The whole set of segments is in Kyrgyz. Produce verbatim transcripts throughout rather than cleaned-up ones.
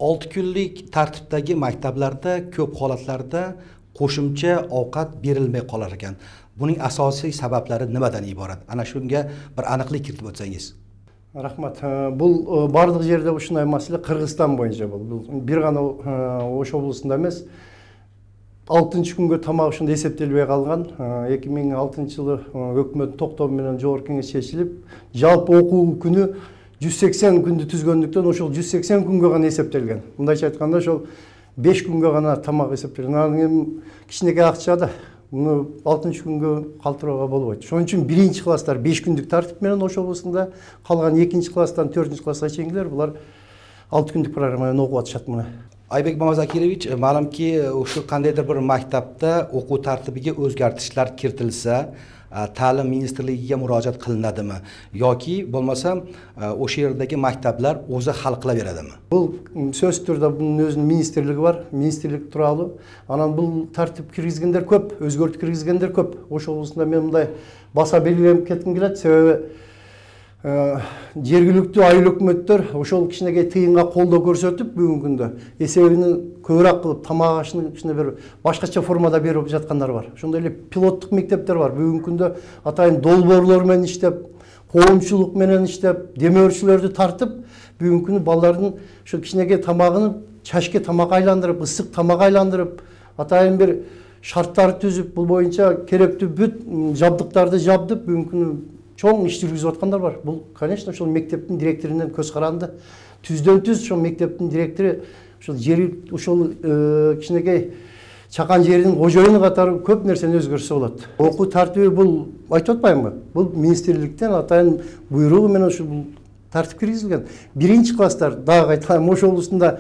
olti kunlik tartibdagi maktablarda ko'p holatlarda qo'shimcha ovqat berilmay qolar ekan. Buning asosiy sabablari nimadan iborat? Ana shunga bir aniqlik kiritib o'tsangiz. Rahmat. Бул бардык жерде ушундай маселе Кыргызстан боюнча бул. Бир гана Ош облусунда эмес, алтынчы күнгө тамак ушундай эсептелбей калган. эки миң алтынчы жылы өкмөттүн токтому менен жогорку кеңеш чечилип, жалпы окуу күнү жүз сексен күндү түзгөндүктөн ошол жүз сексен күнгө гана эсептелген. Мындайча айтканда ошол беш күнгө гана тамак эсептелген. Анан кийин кичинекей акча да муну алтынчы күнгө калтырууга болбойт. Ошон үчүн биринчи класстар беш күндүк тартип менен Ош облусунда, калган экинчи класстан төртүнчү класска чейингилер булар алты күндүк программа менен окуп атышат мына. Aybek Mamazakirovich, ma'lumki o'sha qandaydir bir maktabda o'quv tartibiga o'zgartirishlar kiritilsa, ta'lim ministrligiga murojaat qilinadimi yoki bo'lmasa o'sha yerdagi maktablar o'zi hal qilaveradimi? Бул сөз түрдө bunun өзүнүн министрлиги бар, министрлик тууралуу. Анан бул тартип киргизгендер көп, өзгөртүп киргизгендер көп. Ош облусунда мен мындай баса белгилеп кетким келет, себеби жергиликтүү айыл өкмөттөр ошол кичинекей тыйынга колдоо көрсөтүп бүгүнкү күндө эсебини көбүрөөк кылып тамак ашын кичине бир башкача формада берип жаткандар бар. Ошондой эле пилоттук мектептер бар. Бүгүнкү күндө атайын долбоорлор менен иштеп, коомчулук менен иштеп, демөөрчүлөрдү тартып, бүгүнкү күнү балдардын ошо кичинекей тамагын чачке тамак айландырып, ысык тамак айландырып, атайын бир шарттар түзүп, бул боюнча керектүү бүт жабдыктарды жабдып, бүгүнкү күнү чоң иш жүргүзүп аткандар бар. Бул, конечно, ошол мектептин директорунан көз каранды. Түздөн түз ошол мектептин директору ошол жери ошол кичинекей чакан жердин кожоюну катары көп нерсени өзгөртсө болот. Окуу тартиби бул айтып атпаймынбы? Бул министрликтен атайын буйругу менен ушул бул тартип киргизилген. Биринчи класстар дагы айталам, Ош облусунда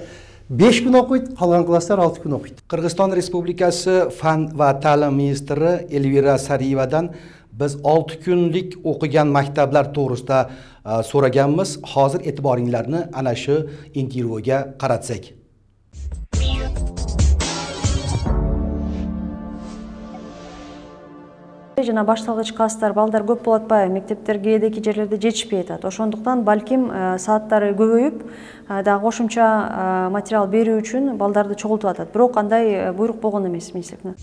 беш күн окуйт, калган класстар алты күн окуйт. Кыргызстан Республикасы фан ва ta'lim министри Эльвира Сариевадан biz olti kunlik o'qigan maktablar to'g'risida so'raganmiz. Hozir e'tiboringlarni ana shu intervyuga qaratsak. Жана башталгыч класстар балдар көп болуп атпайбы, мектептер кээдеки жерлерде жетишпей атат. Ошондуктан балким сааттары көбөйүп, дагы кошумча материал берүү үчүн балдарды чогултуп атат. Бирок кандай буйрук болгон эмес министрликтен.